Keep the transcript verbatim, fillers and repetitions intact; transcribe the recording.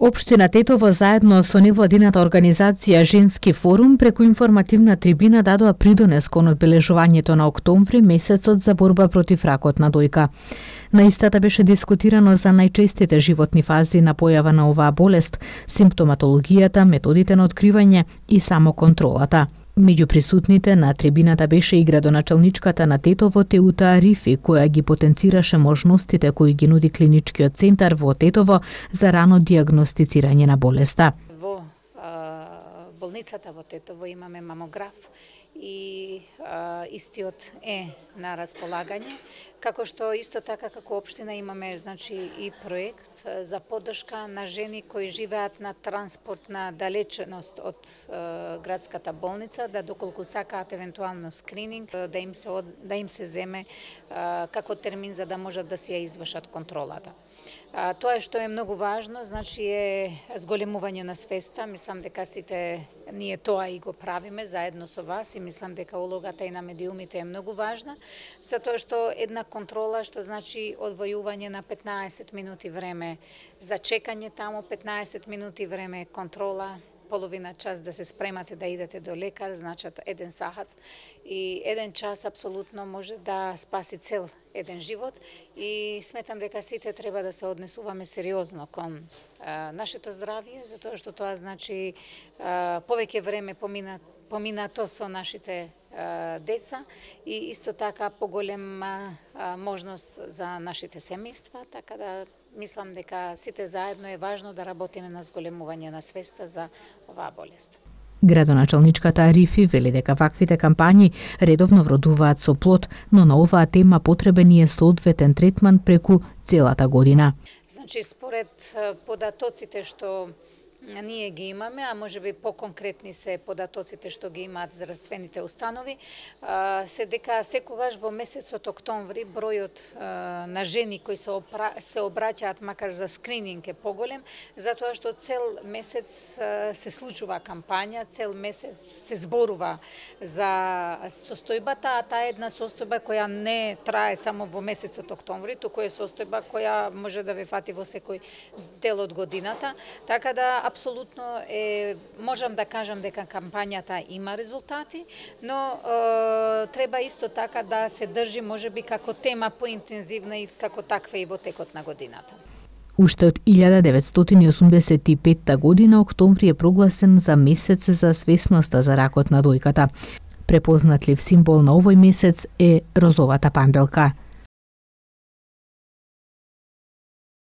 Општина Тетово заедно со невладината организација Женски форум преку информативна трибина дадоа придонес кон одбележувањето на октомври, месецот за борба против ракот на дојка. На истата беше дискутирано за најчестите животни фази на појава на оваа болест, симптоматологијата, методите на откривање и самоконтролата. Меѓу присутните на трибината беше и градоначалничката на Тетово Теута Арифи, која ги потенцираше можностите кои ги нуди клиничкиот центар во Тетово за рано дијагностицирање на болеста. Во а, болницата во Тетово имаме мамограф и а, истиот е на располагање, како што исто така како општина имаме значи и проект за поддршка на жени кои живеат на транспортна далеченост од е, градската болница, да доколку сакаат евентуално скрининг, да им се од, да им се земе е, како термин за да можат да си ја извршат контролата. А, тоа е што е многу важно, значи е зголемување на свеста. Мислам дека сите ние тоа и го правиме заедно со вас и мислам дека улогата и на медиумите е многу важна, затоа што една контрола, што значи одвојување на петнаесет минути време за чекање таму, петнаесет минути време контрола, половина час да се спремате да идете до лекар, значат еден сахат и еден час апсолутно може да спаси цел еден живот и сметам дека сите треба да се однесуваме сериозно кон а, нашето здравје, затоа што тоа значи а, повеќе време помина, поминато со нашите а, деца и исто така поголема а, можност за нашите семејства, така да мислам дека сите заедно е важно да работиме на зголемување на свеста за оваа болест. Градоначалничката Арифи вели дека ваквите кампањи редовно вродуваат со плод, но на оваа тема потребен е соодветен третман преку целата година. Значи, според податоците што ние ги имаме, а може би по-конкретни се податоците што ги имаат здравствените установи, се дека секогаш во месецот октомври бројот на жени кои се, опра... се обраќаат макар за скрининг е поголем, затоа што цел месец се случува кампања, цел месец се зборува за состојбата, а таа е една состојба која не трае само во месецот октомври, туку е состојба која може да ве фати во секој дел од годината, така да апсолутно е, можам да кажам дека кампањата има резултати, но е, треба исто така да се држи можеби како тема поинтензивна и како таква и во текот на годината. Уште од илјада деветстотини и осумдесет и петта година октомври е прогласен за месец за свесноста за ракот на дојката. Препознатлив символ на овој месец е розовата панделка.